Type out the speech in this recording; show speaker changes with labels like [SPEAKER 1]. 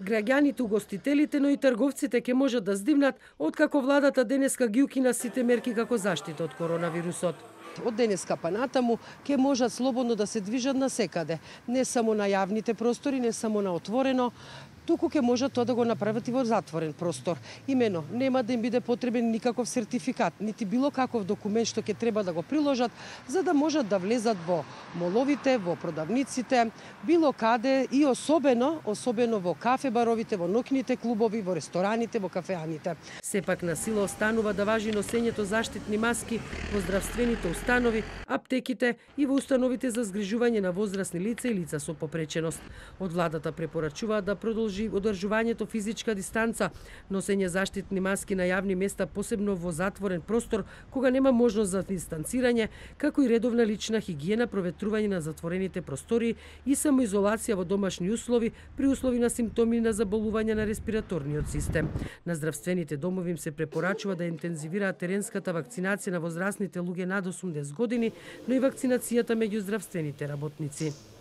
[SPEAKER 1] Граѓаните, угостителите, но и трговците ќе можат да здивнат откако владата денеска ги укина сите мерки како заштита од коронавирусот. Од денеска па натаму ќе можат слободно да се движат насекаде, не само на јавните простори, не само на отворено, туку ќе можат тоа да го направат и во затворен простор. Имено, нема да им биде потребен никаков сертификат, нити било каков документ што ќе треба да го приложат, за да можат да влезат во моловите, во продавниците, било каде и особено во кафе-баровите, во ноќните клубови, во рестораните, во кафеаните. Сепак на сила останува да важи носењето заштитни маски во здравствените установи, аптеките и во установите за згрижување на возрастни лица и лица со попреченост. Од владата препорачуваат да продолжи одржувањето физичка дистанца, носење заштитни маски на јавни места, посебно во затворен простор, кога нема можност за дистанцирање, како и редовна лична хигиена, проветрување на затворените простори и самоизолација во домашни услови при услови на симптоми на заболување на респираторниот систем. На здравствените домови им се препорачува да интензивираат теренската вакцинација на возрастните луѓе над 80 години, но и вакцинацијата меѓу здравствените работници.